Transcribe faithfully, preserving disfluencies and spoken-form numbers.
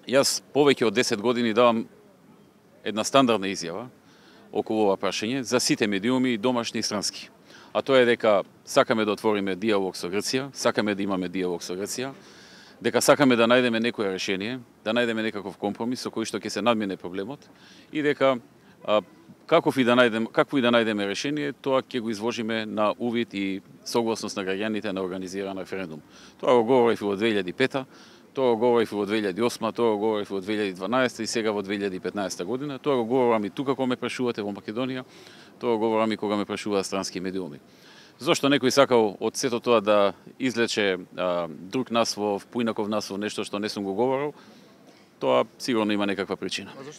Јас повеќе од десет години давам една стандардна изјава околу ова прашање за сите медиуми, домашни и странски. А тоа е дека сакаме да отвориме диалог со Грција, сакаме да имаме диалог со Грција, дека сакаме да најдеме некое решение, да најдеме некаков компромис со кој што ќе се надмине проблемот и дека а, каков и да најдеме, какво и да најдеме решение, тоа ќе го изложиме на увид и согласност на граѓаните на организиран референдум. Тоа го говорив во две илјади и пета, тоа го говорив во две илјади и осма, тоа го говорив во две илјади и дванаесета и сега во две илјади и петнаесета година. Тоа го говорам и тука кога ме прашувате во Македонија, тоа го говорам и кога ме прашуваат странски медиуми. Зошто некој сакал од сето тоа да излече а, друг наслов, поинаков наслов, нешто што не сум го говорил, тоа сигурно има некаква причина.